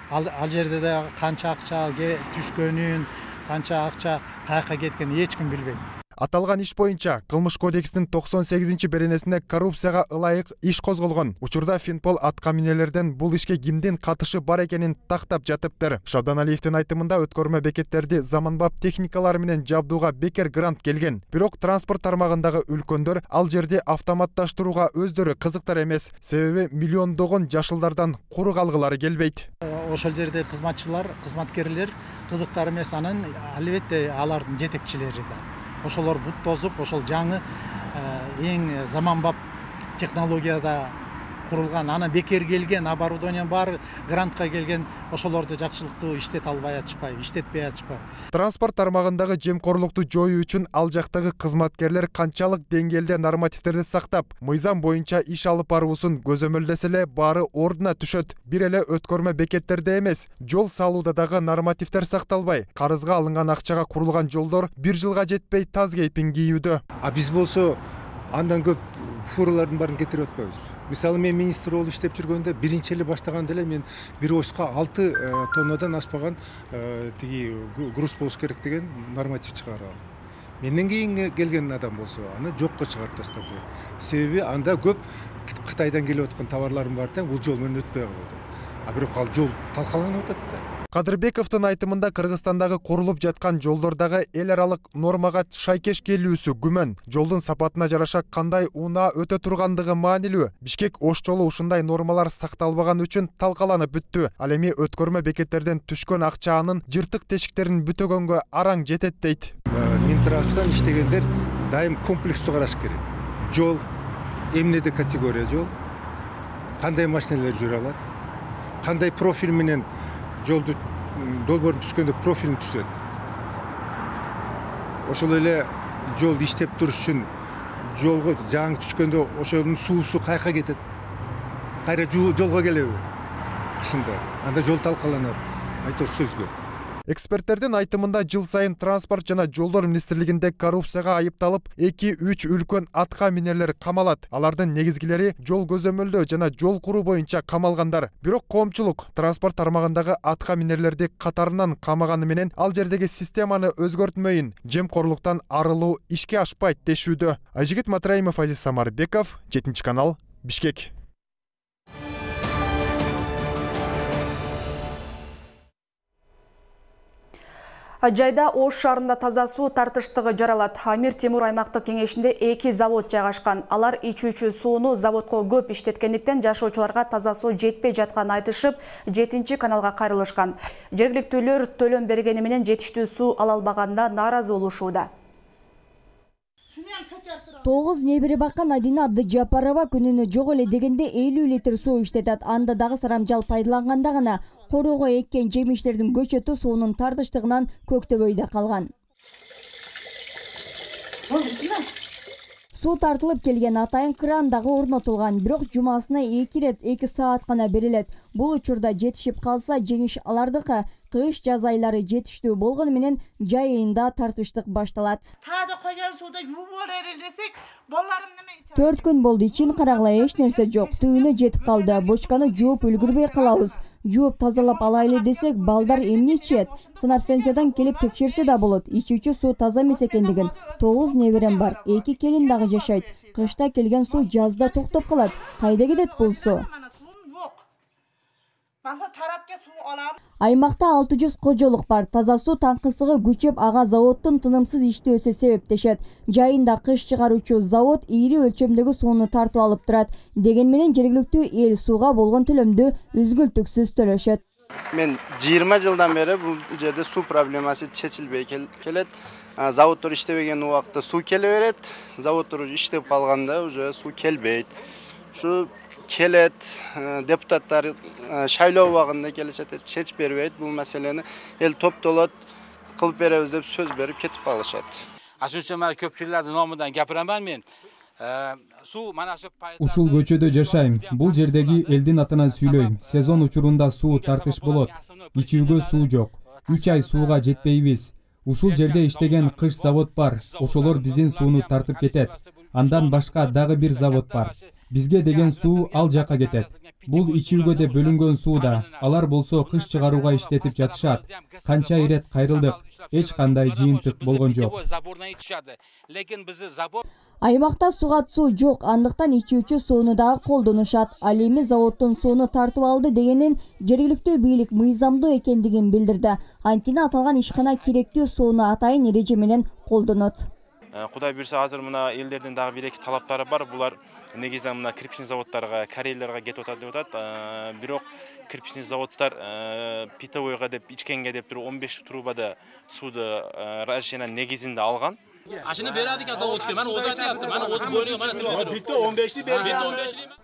[SPEAKER 5] Ал жерде да канча акча түшкөнүн, канча акча каяка кеткенин эч ким билбейт.
[SPEAKER 19] Аталган иш боюнча Кылмыш кодексинин 98 беренесинде коррупцияга ылайык иш козголгон. Учурда Финпол аткаминелерден бул ишке кимдин катышы бар экенин тактап жатыптыр. Шабдан Алиевдин айтымында өткөрмө бекеттерди заманбап техникалар менен жабдууга бекер грант келген. Бирок транспорт тармагындагы үлкөндөр ал жерде автоматташтырууга өздөрү кызыктар эмес. Себеби миллиондогон жашылдардан куру калгылары келбейт.
[SPEAKER 5] Ошол жерде кызматкерлер кызыктар эмес, анан албетте алардын жетекчилери да. Ошолор бут тозуп, ошол жаңы эң заманбап технологияда курулган, аны бекер келген, оборудование бар, грантка келген, ошолорду жакшылыктуу иштете албай атышпайбы, иштетпей атышпайбы.
[SPEAKER 19] Транспорт тармагындагы жемкорлукту жоюу үчүн ал жактагы кызматкерлер канчалык деңгээлде нормативтерди сактап, мыйзам боюнча иш алып баруусун көзөмөлдөсө эле баары ордуна түшөт. Бир эле өткөрмө бекеттерде эмес, жол салууда дагы нормативдер сакталбай, карызга алынган акчага курулган жолдор 1 жылга жетпей таз кейпин кийүүдө.
[SPEAKER 7] Биз болсо андан көп фуралардын баарын кетирип атпайбыз. Мисалы мен министр болуп иштеп жүргөндө биринчи эле баштаганда эле мен бир оська 6 тоннадан ашпаган тиги груз болуш керек деген норматив чыгаргам. Менден кийин келген адам болсо аны жокко чыгарып таштады. Себеби анда көп Кытайдан келип аткан товарларым бар да, бул жол менен өтпөй калат. Бирок ал жол талкаланып атат да.
[SPEAKER 19] Кадырбековдун айтымында Кыргызстандагы курулуп жаткан жолдордагы эл аралык нормага шайкеш келүүсү күмөн. Жолдун сапатына жараша кандай унаа өтө тургандыгы маанилүү. Бишкек Ош жолу ушундай нормалар сакталбаган үчүн талкаланып бүттү. Ал эми өткөрмө бекеттерден түшкөн акча анын жыртык тешиктерин бүтөгөнгө араң жетет дейт.
[SPEAKER 7] Минтрастан иштегендер дайым комплекстүү караш керек. Жол эмнеде категория жол, кандай машиналар жүрө алат, кандай профиль менен жолду долбоорун түзгөндө профилин түзөт. Ошол эле жол иштеп туруш үчүн жолго жаңы түшкөндө ошонун суусу каяка кетет. Кайра жолго келеби? Кышында. Анда жол талкаланат. Айтор сөзгө.
[SPEAKER 19] Эксперттердин айтымында жыл сайын транспорт жана жолдор министрлигинде коррупцияга айыпталып 2-3 үлкөн атка минерлер камалат. Алардын негизгилери жол көзөмөлдөө жана жол куруу боюнча камалгандар. Бирок коомчулук транспорт тармагындагы атка минерлерди катарынан камаганы менен ал жердеги системаны өзгөртмөйүн, жемкорлуктан арылуу ишке ашпайт дешүүдө. Айжигит Матраимов, Азиз Самарбеков, 7 канал, Бишкек.
[SPEAKER 1] Жайда Ош шаарында таза суу тартыштыгы жаралат. Амир Темур аймактык кеңешинде 2 завод жайгашкан. Алар ичүүчү сууну заводко көп иштеткендиктен жашоочуларга таза суу жетпей жатканын айтышып, 7 каналга кайрылышкан. Жергиликтүүлөр төлөм бергени менен жетиштүү суу ала албаганына нааразы болушууда.
[SPEAKER 8] 9 небери баккан Адина Абдыжапарова күнүнө жок эле дегенде 50 литр суу иштетет. Анда дагы сарамжал пайдаланганда гана короого эккен жемиштердин көчөтү суунун тартыштыгынан көктөбөйдө калган. Суу тартылып келген атайын кран дагы орнотулган, бирок жумасына 2 рет 2 саат гана берилет. Бул учурда жетишип калса жеңиш алардыкы. Кыш жаз айлары жетиштүү болгону менен жай айында тартыштык башталат.
[SPEAKER 9] Таада койгон сууда жууп берели десек, болларым неме?
[SPEAKER 8] 4 күн болду, ичин карагыла эч нерсе жок. Түбүнө жетип калды. Бочканы жууп үлгүрбөй калабыз. Жууп тазалап алайлы десек, балдар эмне ичет? Санапсенциядан келип текшерсе да болот. Ичүүчү суу таза эмес экендигин. 9 неберем бар. 2 келин дагы жашайт. Кышта келген суу жазда токтоп калат. Кайда кетет бул суу? Аймакта 600 кожолук бар. Таза суу таңкысыгы күчөп, ага заводдун тынымсыз иштөөсү себептешет. Жайында кыш чыгаруучу завод ийри өлчөмдөгү сууну тартып алып турат. Деген менен жергиликтүү эл сууга болгон төлөмдү үзгүлтүксүз төлөшөт.
[SPEAKER 10] Мен 20 жылдан бери бул жерде суу проблемасы чечилбей келет. Заводдор иштебеген убакта суу келе берет. Заводдор иштеп калганда уже суу келбейт. Ушу келет, депутаттар шайлоо убагында келишет, чечип бербейт бул маселени. Эл топтолот, кылып беребиз деп сөз берип кетип калышат.
[SPEAKER 11] Ошончо көпчүлөрдүн номунан гапыраман мен.
[SPEAKER 12] Ушул көчөдө жашайм. Бул жердеги элдин атынан сүйлөйм. Сезон учурунда суу тартыш болот. Ичүүгө суу жок. 3 ай сууга жетпейбиз. Ушул жерде иштеген кыш завод бар. Ошолор биздин сууну тартып кетет. Андан башка дагы бир завод бар. Бизге деген суу ал жака кетет. Бул ичүүгө деп бөлүнгөн суу да. Алар болсо кыш чыгарууга иштетип жатышат. Канча ирет кайрылдык. Эч кандай жыйынтык болгон жок.
[SPEAKER 8] Аймакта сугат суу жок, андыктан ичүүчү сууну дагы колдонушат. Ал эми заводдун сууну тартып алды дегенин жергиликтүү бийлик мыйзамдуу экендигин билдирди. Антина аталган ишкана керектүү сууну атайын эреже менен колдонот.
[SPEAKER 26] Кудай буйрса азыр мына элдердин дагы 1-2 талаптары бар. Булар негизинен мына кирпичный заводдорго, корейлерге кетип атат деп атат. Бирок кирпичный заводдор питовойго деп ичкенге деп туруп 15 трубада сууду разрешение негизинде алган.
[SPEAKER 27] Ашыны берadi ekan zavodga. Mana o'zi aytyapti. Mana o'zi bo'yniga mana turib.
[SPEAKER 10] Bitta 15ni bergan.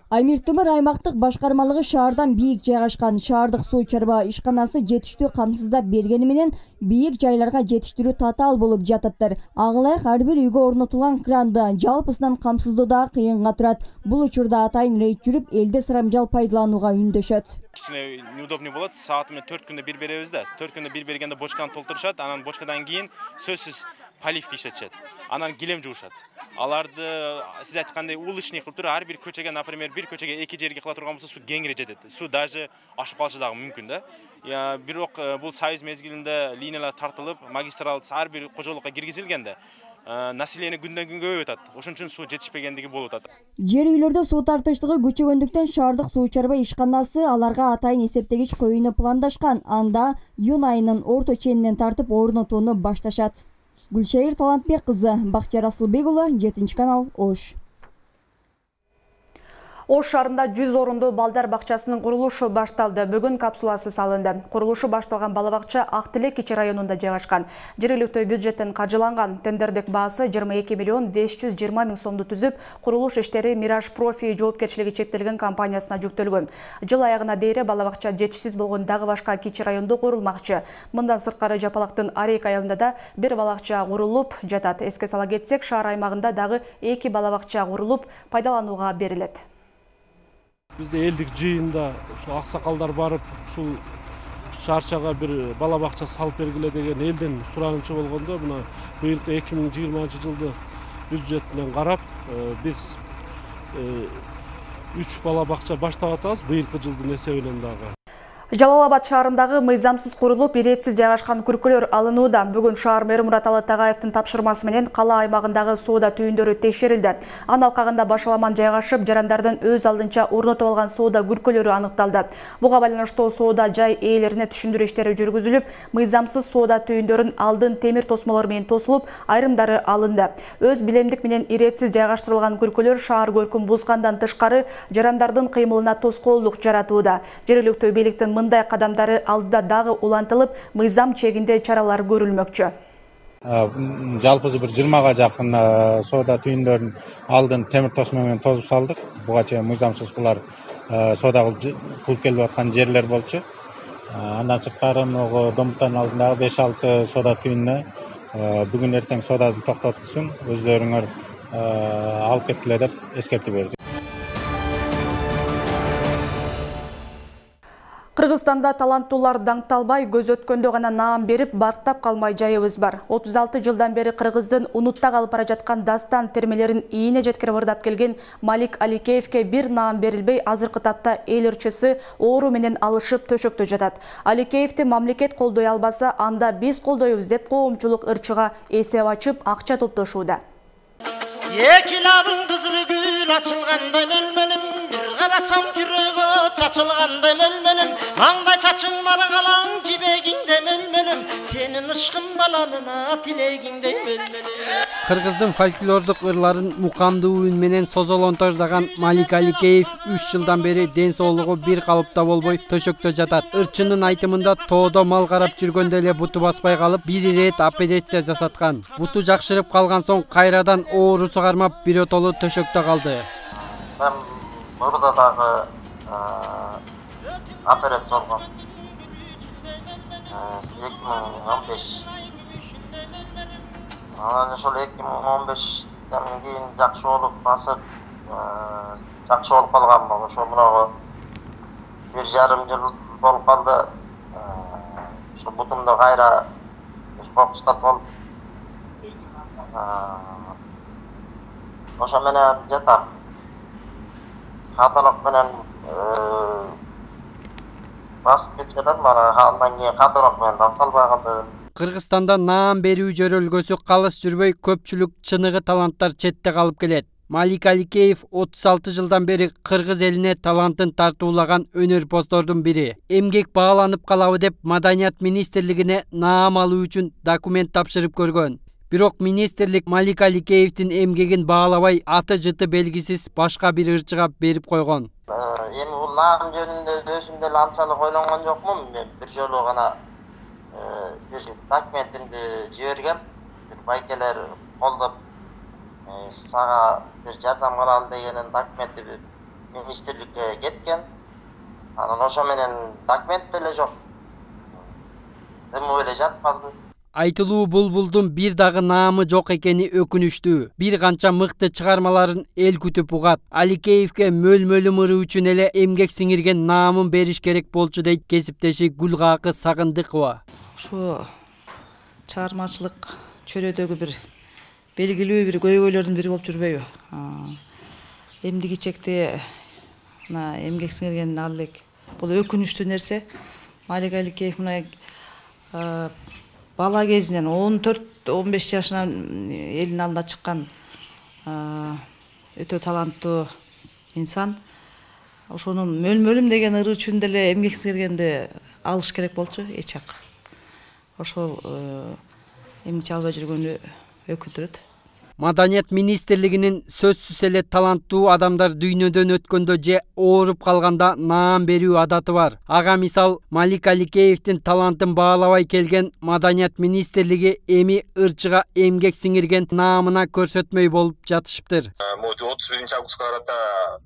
[SPEAKER 8] Амир Темур аймактык башкармалыгы шаардан бийик жайгашкан. Шаардык суу чарба ишканасы жетиштүү камсыздап бергени менен бийик жайларга жетиштирүү татаал болуп жатыптыр. Агылайык ар бир үйгө орнотулган кранды жалпысынан камсыздоо да кыйынга турат. Бул учурда атайын рейд жүрүп, элди сарамжал пайдаланууга үндөшөт.
[SPEAKER 26] Кичине неудобный болот. Сааты менен 4 күндө бир беребиз да. 4 күндө бир бергенде бочканы толтурушат. Анан бочкадан кийин сөзсүз поливка иштетишет. Анан килем жуушат. Аларды сиз айткандай уличный кылып туруп ар бир көчөгө, например, бир көчөгө 2 жерге кыла турган болсо суу кеңири жетет. Суу даже ашып калышы дагы мүмкүн да. Бирок бул союз мезгилинде линиялар тартылып, магистрал ар бир кожолукка киргизилгенде население күндөн күнгө көбөйүп атат. Ошон үчүн суу жетишпегендиги болуп атат.
[SPEAKER 8] Жер үйлөрдө суу тартыштыгы күчөгөндүктөн шаардык суу чарба ишканасы аларга атайын эсептегич коюуну пландашкан. Анда июнь айынын орто ченинен тартып орнотууну башташат. Гүлшайыр Талантбек кызы, Бактияр Асылбек уулу, 7 канал, Ош.
[SPEAKER 1] Ош шаарында 100 орундуу балдар бакчасынын курулушу башталды. Бүгүн капсуласы салынды. Курулушу башталган бала бакча Ак Тилек кичи районунда жайгашкан. Жергиликтүү бюджеттен каржыланган. Тендердик баасы 22 миллион 520 миң сомду түзүп, курулуш иштери Мираж Профи жоопкерчилиги чектелген компаниясына жүктөлгөн. Жыл аягына дейре бала бакча жетишсиз болгон дагы башка кичи райондо курулмакчы. Мындан сырткары Жапалактын Арек айылында да бир бала бакча курулуп жатат. Эске сала кетсек, шаар аймагында дагы 2 бала бакча курулуп пайдаланууга берилет.
[SPEAKER 28] Бизде элдик жыйында ушул аксакалдар барып, ушул
[SPEAKER 3] шаарчага бир бала бакча салып бергиле деген элден суранычы болгондо мына быйылкы 2020-жылды бюджетинен карап биз 3 бала бакча баштап атабыз быйылкы жылдын эсебинен дагы.
[SPEAKER 1] Жалал-Абад шаарындагы мыйзамсыз курулуп, иретсиз жайгашкан күркөлөр алынууда. Бүгүн шаар мэри Мураталы Тагаевдин тапшырмасы менен кала аймагындагы соода түйүндөрү текшерилди. Анын алкагында башаламан жайгашып, жарандардын өз алдынча орнотуп алган соода күркөлөрү аныкталды. Буга байланыштуу соода жай ээлерине түшүндүрүү иштери жүргүзүлүп, мыйзамсыз соода түйүндөрүн алдын темир тосмолор менен тосулуп, айрымдары алынды. Өз билемдик менен иретсиз жайгаштырылган күркөлөр шаар көркүн бузгандан тышкары жарандардын кыймылына тоскоолдук жаратууда. Жергиликтүү бийликтин мындай кадамдары алдыда дагы улантылып, мыйзам чегинде чаралар көрүлмөкчү.
[SPEAKER 5] Жалпы бир 20га жакын соода түйүндөрүн алдын темир тосмо менен тосуп салдык. Буга чейин мыйзамсыз булар соода кылып келип аткан жерлер болчу. Андан сырткары Домуттан алдындагы 5-6 соода түйүнүнө бүгүн эртең соодасын токтоткузсун, өздөрүңөр алып кеткиле деп эскертип берди.
[SPEAKER 1] Кыргызстанда таланттуулар даңкталбай, көз өткөндө гана наам берип, бартап калмай жайыбыз бар. 36 жылдан бери Кыргыздын унутта калып бара жаткан дастан термелерин ийине жеткирип ырдап келген Малик Аликеевке бир наам берилбей, азыркы тапта эл ырчысы оору менен алышып төшөктө жатат. Аликеевди мамлекет колдой албаса, анда биз колдойбуз деп коомчулук ырчыга эсеп ачып, акча топтошууда.
[SPEAKER 6] Эки лабың кызыл гүл ачылгандай мөлмөлүм, бир карасам жүрөгү чачылгандай мөлмөлүм, маңдай чачың маргалаң жибегиңде мөлмөлүм, сенин ышкың баланына тилегиңдей мөлмөлүм.
[SPEAKER 13] Кыргыздын фольклордук ырларын мукамдуу үн менен созолонтордаган Малик Аликеев 3 жылдан бери ден соолугу бир калыпта болбой төшөктө жатат. Ырчынын айтымында тоодо мал карап жүргөндө эле буту баспай калып, бир ирет операция жасаткан. Буту жакшырып калган соң кайрадан оорусу кармап биротолу төшөктө калды.
[SPEAKER 6] Мен мурда дагы операция болгом. 2015. Анан ошол 2015-тен кийин жакшы болуп басып, жакшы болуп калганмын. Ошо мынагы 1,5 жыл болуп калды. Ошо бутумда кайра фокустат болуп, ошо менен жатам. Каталок менен басып кетип жатат, мана андан кийин каталок менен да салбай калды.
[SPEAKER 13] Кыргызстанда наам берүү жөрөлгөсү калыс жүрбөй, көпчүлүк чыныгы таланттар четте калып келет. Малик Аликеев 36 жылдан бери кыргыз элине талантын тартуулаган өнөрпоздордун бири. Эмгек бааланып калабы деп Маданият министрлигине наам алуу үчүн документ тапшырып көргөн. Бирок министрлик Малик Аликеевдин эмгегин баалабай, аты жыты белгисиз башка бир ырчыга берип койгон.
[SPEAKER 6] Эми бул наам жөнүндө өзүм деле анчалык ойлонгон жокмун. Мен бир жолу гана бир документимди жибергем. Бир байкелер колдоп сага бир жардам кылалы дегенин документи министрликке кеткен. Анан ошо менен документ деле жок. Эми эле жатып калды.
[SPEAKER 13] Айтылуу булбулдун бир дагы наамы жок экени өкүнүчтүү. Бир канча мыкты чыгармаларын эл күтүп угат. Аликеевке мөлмөлүм ыры үчүн эле эмгек сиңирген наамын бериш керек болчу дейт кесиптеши Гүлгакы Сагындыкова.
[SPEAKER 14] Ошо чыгармачылык чөйрөдөгү бир белгилүү бир көйгөйлөрдүн бири болуп жүрбөйбү? Эмдиги чекте мына эмгек сиңирген ал элек бул өкүнүчтүү нерсе. Малик Аликеев мына бала кезинен 14-15 жашынан элдин алдына чыккан өтө таланттуу инсан. Ошонун мөлмөлүм деген ыры үчүн деле эмгек сиңиргенди алыш керек болчу, эч жак. Ошол эмче албай жүргөнү өкүндүрөт.
[SPEAKER 13] Маданият министрлигинин сөзсүз эле таланттуу адамдар дүйнөдөн өткөндө же ооруп калганда наам берүү адаты бар. Ага мисал Малик Аликеевдин талантын баалабай келген Маданият министрлиги эми ырчыга эмгек сиңирген наамына көрсөтмөй болуп жатышыптыр.
[SPEAKER 15] 31-августка карата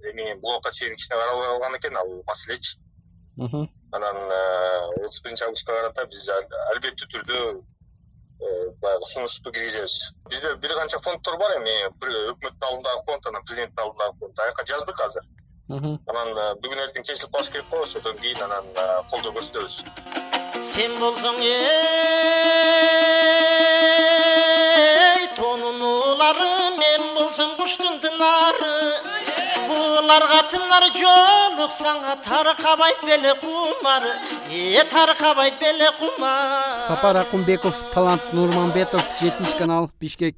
[SPEAKER 15] эми буга чейин кичине каралбай калган экен ал маселечи. Анан 31-августка карата биз албеттүү түрдө баягы сунушту киргизебиз. Бизде бир канча фонддор бар эми, өкмөттүн алдындагы фонд, анан президенттин алдындагы фонд. Аяка жаздык азыр. Анан бүгүн эртең чечилип калыш керек го, ошодон кийин анан колдоо көрсөтөбүз.
[SPEAKER 16] Sen bolsоң тонунулары, мен болсом куштун тынары. Буларга тынар жолуксаңа таркабайт беле кумар, таркабайт беле кумар.
[SPEAKER 13] Сапар Акунбеков, Талант Нурманбетов, 7-канал, Бишкек.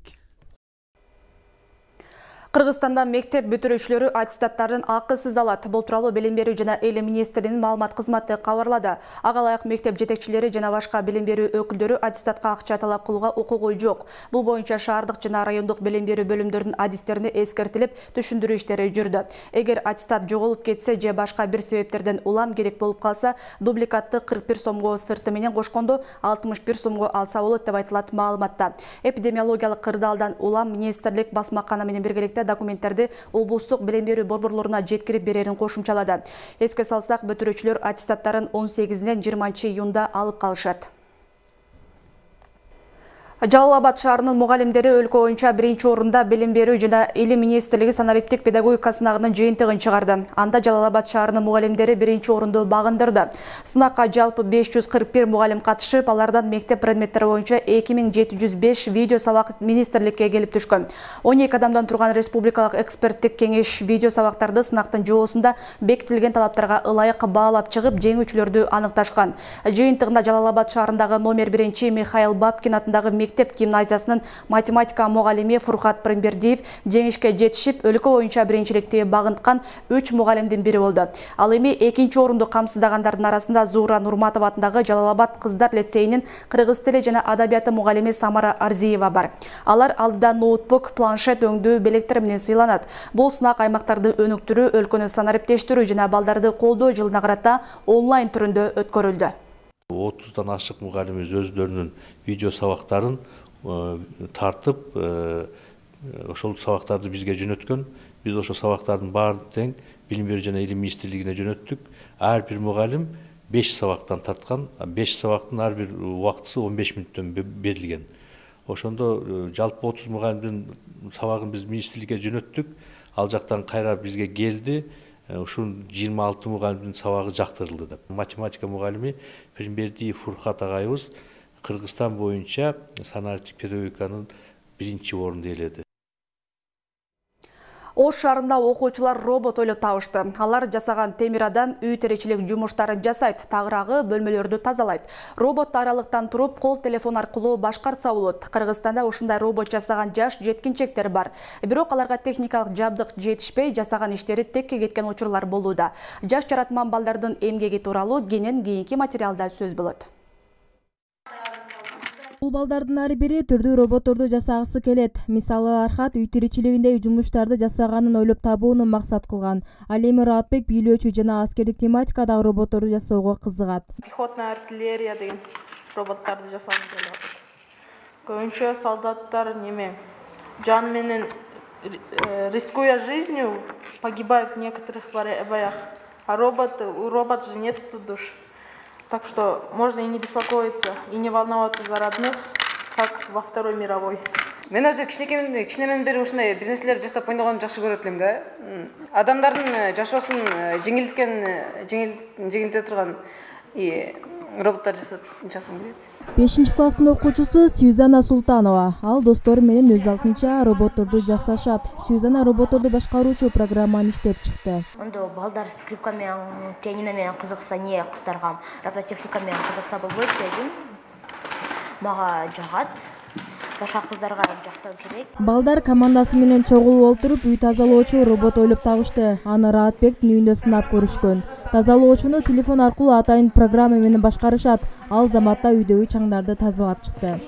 [SPEAKER 1] Кыргызстанда мектеп бүтүрүүчүлөрү аттестаттарын акысыз алат. Бул тууралуу Билим берүү жана Эл министринин маалымат кызматы кабарлады. Ага ылайык мектеп жетекчилери жана башка билим берүү өкүлдөрү аттестатка акча талап кылууга укугу жок. Бул боюнча шаардык жана райондук билим берүү бөлүмдөрүнүн адистерине эскертилип, түшүндүрүү иштери жүрдү. Эгер аттестат жоголуп кетсе же башка бир себептерден улам керек болуп калса, дубликатты 41 сомго сырты менен кошкондо 61 сомго алса болот деп айтылат маалыматта. Эпидемиологиялык кырдаалдан улам министрлик басмакана менен биргеликте документтерди облустук билим берүү борборлоруна жеткирип берерин кошумчалады. Эске салсак, бүтүрүүчүлөр аттестаттарын 18-ден 20-июнда алып калышат. Жалал-Абад шаарынын мугалимдери өлкө боюнча 1-орунда билим берүү жана Илим министрлиги санариптик педагогика сынагынын жыйынтыгын чыгарды. Анда Жалал-Абад шаарынын мугалимдери 1-орунду багындырды. Сынакка жалпы 541 мугалим катышып, алардан мектеп предметтери боюнча 2705 видео сабак министрликке келип түшкөн. 12 адамдан турган республикалык эксперттик кеңеш видео сабактарды сынактын жоосунда бекитилген талаптарга ылайык баалап чыгып, жеңүүчүлөрдү аныкташкан. Жыйынтыгында Жалал-Абад шаарындагы номер 1 Михаил Бабкин атындагы мектеп гимназиясынын математика мугалими Фуркат Прембердиев жеңишке жетишип, өлкө боюнча биринчиликти багынткан 3 мугалимдин бири болду. Ал эми 2-орунду камсыздагандардын арасында Зуура Нурматова атындагы Жалал-Абад кыздар лицейинин кыргыз тили жана адабияты мугалими Самара Арзиева бар. Алар алдыда ноутбук, планшет өңдүү белектер менен сыйланат. Бул сынак аймактарды өнүктүрүү, өлкөнү санариптештирүү жана балдарды колдоо жылына карата онлайн түрүндө өткөрүлдү.
[SPEAKER 17] 30-дан ашык мугалимибиз өздөрүнүн видео сабактарын тартып, ошол сабактарды бизге жөнөткөн. Биз ошол сабактардын баарын тең Билим берүү жана Илим министрлигине жөнөттүк. Ар бир мугалим 5 сабактан тарткан, 5 сабактын ар бир убактысы 15 мүнөттөн берилген. Ошондо жалпы 30 мугалимдин сабагын биз министрликке жөнөттүк. Ал жактан кайра бизге келди. Ушул 26 мугалимдин сабагы жактырылды деп. Математика мугалими Прембердиев Фуркат агайыбыз Кыргызстан боюнча санариптик педагогиканын 1-орунду ээледи.
[SPEAKER 1] Ош шаарында окуучулар робот ойлоп табышты. Алар жасаган темир адам үй теричилик жумуштарын жасайт, тагыраагы бөлмөлөрдү тазалайт. Робот аралыктан туруп, кол телефон аркылуу башкарса болот. Кыргызстанда ушундай робот жасаган жаш жеткинчектер бар. Бирок аларга техникалык жабдык жетишпей, жасаган иштери текке кеткен учурлар болууда. Жаш жаратман балдардын эмгеги тууралуу кийинки материалда сөз болот.
[SPEAKER 8] Бул балдардын ар бири түрдүү роботторду жасагысы келет. Мисалы, Архат үй тиричилигиндеги жумуштарды жасаганын ойлоп табууну максат кылган. Ал эми Раатбек бийлөөчү жана аскердик тематикадагы роботторду жасоого кызыгат.
[SPEAKER 18] Пехотная артиллерия деген роботторду жасагым келип атат. Көбүнчө солдаттар жан менен рискуя жизнью погибают в некоторых боях. А у робота же нет душ. Так что можно и не беспокоиться, и не волноваться за родных, как во Второй мировой.
[SPEAKER 20] Мен өзү кичинемен бери ушундай бир нерселерди жасап ойногонду жакшы көрөт элем да. Адамдардын жашоосун жеңилдете турган роботтор жасагым келет.
[SPEAKER 8] 5-класстын окуучусу Сюзанна Султанова. Ал достору менен өз алтынча роботторду жасашат. Сюзанна роботторду башкаруучу программаны иштеп чыкты.
[SPEAKER 22] Ондо балдар скрипка менен, пианино менен кызыкса, кыздарга робототехника менен кызыкса болбойт дедим. Мага жагат. Башка кыздарга жакса керек.
[SPEAKER 8] Балдар командасы менен чогулуп отуруп, үй тазалоочу робот ойлоп табышты. Аны Раатбектин үйүндө сынап көрүшкөн. Тазалоочуну телефон аркылуу атайын программа менен башкарышат. Ал заматта үйдөгү чаңдарды тазалап чыкты.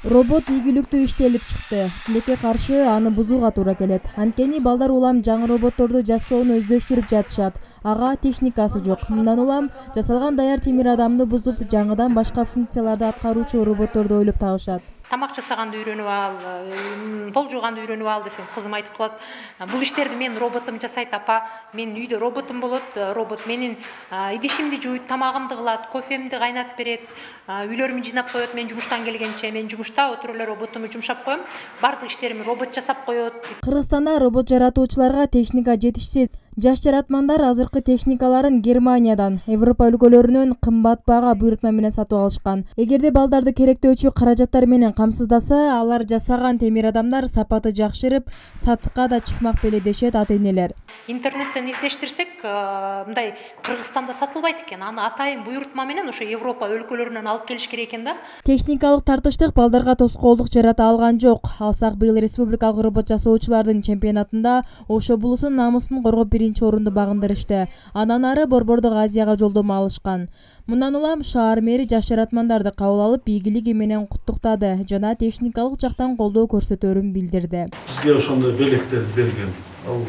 [SPEAKER 8] Робот ийгиликтүү иштелип чыкты. Тилекке каршы аны бузууга туура келет. Анткени балдар улам жаңы роботторду жасоону өздөштүрүп жатышат. Ага техникасы жок. Мындан улам жасалган даяр темир адамды бузуп, жаңыдан башка функцияларды аткаруучу роботторду ойлоп табышат.
[SPEAKER 20] тамак жасаганды үйрөнүп ал, пол жууганды үйрөнүп ал десем, кызым айтып калат, бул иштерди менин роботум жасайт апа, менин үйдө роботум болот, робот менин идишимди жууйт, тамагымды кылат, кофемди кайнатып берет, үйлөрүмдү жыйнап коет, мен жумуштан келгенче, мен жумушта отуруп эле роботумду жумшап коем, баардык иштеримди робот жасап коет.
[SPEAKER 8] Кыргызстанда робот жаратуучуларга техника жетишсиз. Жаш жаратмандар азыркы техникаларын Германиядан, Европа өлкөлөрүнөн кымбат баага буйрутма менен сатып алышкан. Эгерде балдарды керектөөчү каражаттар менен камсыздаса, алар жасаган темир адамдар сапаты жакшырып, сатыкка да чыкмак беле дешет ата-энелер.
[SPEAKER 20] Интернеттен издештирсек, мындай Кыргызстанда сатылбайт экен. Аны атайын буйрутма менен ошо Европа өлкөлөрүнөн алып келиш керек экен да.
[SPEAKER 8] Техникалык тартыштык балдарга тоскоолдук жарата алган жок. Алсак быйыл республикалык робот жасоочулардын чемпионатында Ош облусунун намысын коргоп орунду багындырышты. Андан ары Борбордук Азияга жолдомо алышкан. Мындан улам шаар мэри жаш жаратмандарды кабыл алып, ийгилиги менен куттуктады жана техникалык жактан колдоо көрсөтөөрүн билдирди.
[SPEAKER 3] Бизге ошондой белектерди берген. Ал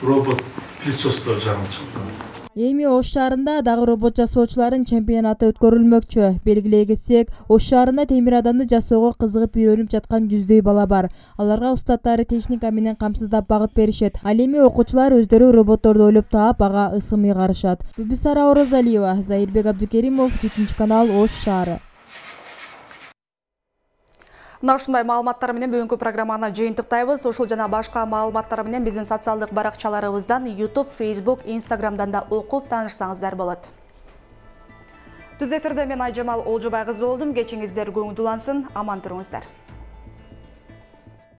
[SPEAKER 3] робот присутствие жагынан чыккан.
[SPEAKER 8] Эми Ош шаарында дагы робот жасоочулардын чемпионаты өткөрүлмөкчү. Белгилей кетсек, Ош шаарында темир адамды жасоого кызыгып үйрөнүп жаткан жүздөй бала бар. Аларга устаттары техника менен камсыздап багыт беришет. Ал эми окуучулар өздөрү роботторду ойлоп таап, ага ысымый карышат. Бүбүсара Орозалиева, Заирбек Абдукеримов, 7 канал, Ош шаары.
[SPEAKER 1] Мына ушундай маалыматтар менен бүгүнкү программаны жыйынтыктайбыз. Ушул жана башка маалыматтар менен биздин социалдык баракчаларыбыздан YouTube, Facebook, Instagram'дан да окуп таанышсаңыздар болот. Түз эфирде мен Айжамал Олжобай кызы болдум. Кечиңиздер көңүл улансын, аман туруңуздар.